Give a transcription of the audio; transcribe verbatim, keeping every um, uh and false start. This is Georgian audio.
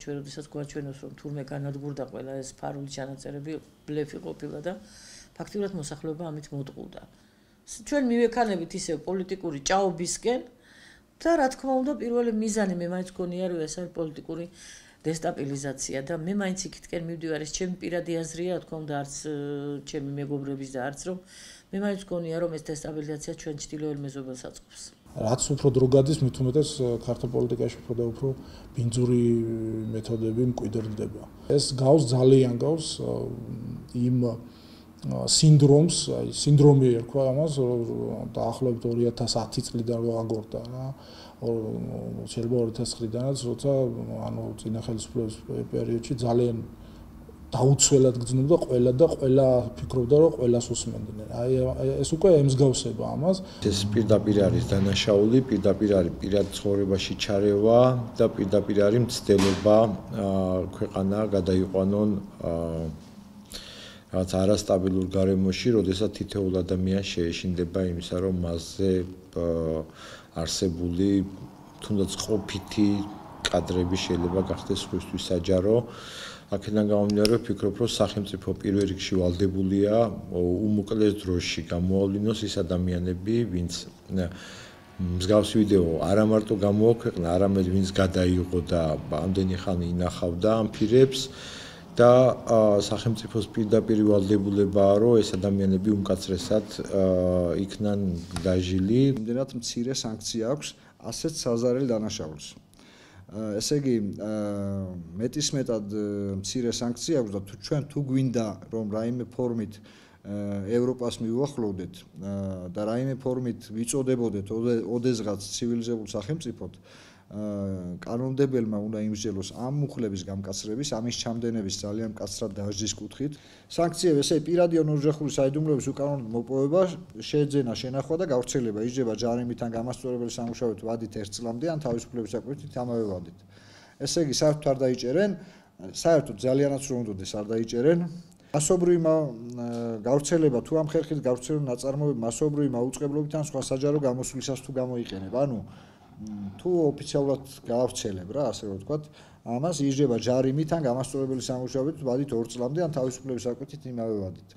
ჩვენ როდესაც გვაჩვენოს რომ თურმე განადგურდა ყველა ეს ფარული ჩანაწერები ბლეფი ყოფილა და ფაქტიურად მოსახლეობა ამით მოტყუდა. ჩვენ მივექანებით ისევ პოლიტიკური ჭაობისკენ და რა თქმა უნდა პირველი მიზანი მე მაინც გონია რომ ეს არის პოლიტიკური დესტაბილიზაცია და მე მაინც იქითკენ მივდივარ ეს ჩემი პირადი აზრია რა თქმა უნდა არც ჩემი მეგობრების და არც რომ მე მაინც გონია რომ ეს დესტაბილიზაცია ჩვენ ჩtildeოელ მეზობელს აწყობს. რაც უფრო დრო გადის მით უმეტეს ქართულ პოლიტიკაში უფრო და უფრო ბინძური მეთოდები მკვიდრდება. ეს გავს ძალიან გავს იმ სინდრომს, აი სინდრომი ერქვა ამას დაახლოებით ორი ათას ათი წლიდან რო აგორდა რა. შეიძლება ორი ათას წლიდანაც როცა ანუ წინა ხელისუფლების პერიოდში ძალიან დაუცველად გრძნობდა ყველა და ყველა ფიქრობდა რომ ყველას უსმენდნენ. აი ეს უკვე ემსგავსება ამას. ეს პირდაპირ არის დანაშაული, პირდაპირ არის პირად ცხოვრებაში ჩარევა და პირდაპირ არის მცდელობა ქვეყანა გადაიყვანონ რაც არასტაბილურ გარემოში, როდესაც თითოეულ ადამიანს შეეშინდება იმისა, რომ მასზე არსებული თუნდაც ყოფითი კადრები შეიძლება გახდეს სხვისთვის საჯარო. აქედან გამომდინარე ვფიქრობ, რომ სახელმწიფო პირველ რიგში ვალდებულია უმოკლეს დროში გამოავლინოს ის ადამიანები, ვინც მსგავსი ვიდეო არა მარტო გამოაქვეყნა, არამედ ვინც გადაიღო და ამდენი ხანი ინახავდა ამ ფირებს და სახელმწიფოს პირდაპირ ვალდებულებაა, რომ ეს ადამიანები უმკაცრესად იქნან დაჟილი. იმდენად მცირე სანქცია აქვს ასეთ საზარელ დანაშაულს. ესე იგი მეტისმეტად მცირე სანქცია აქვს და თუ ჩვენ თუ გვინდა რომ რაიმე ფორმით ევროპას მივუახლოვდეთ და რაიმე ფორმით ვიწოდებოდეთ ოდესღაც ცივილიზებულ სახელმწიფოდ კანონმდებელმა უნდა იმსჯელოს ამ მუხლების გამკაცრების, ამის ჩამდენების ძალიან მკაცრად დაჟდის კუთხით. სანქციები ესე პირადი ოროჯახური საიდუმლოების უკანონოდ მოპოვება, შეძენა, შენახვა და გავრცელება იძლევა ჯარიმით ან გამასწორებელი სამუშაოებით ვადით ერთ წლამდე ან თავისუფლების საკუთით ამავე ვადით. ესე იგი საერთოდ არ დაიჭერენ, საერთოდ ძალიანაც რომ უნდოდეს არ დაიჭერენ. მასობრივი გავრცელება თუ ამ ხერხით გავრცელებული ნაწარმოები მასობრივი მაუწყებლობით ან სხვა საჯარო გამოსვლისას თუ გამოიყენება. ანუ თუ ოფიციალურად გაავრცელებ რა ასე რომ ვთქვათ, ამას იძლევა ჯარიმით ან გამასწორებელი სამუშაოებით ვადით ორ წლამდე ან თავისუფლების საკუთით იმავე ვადით.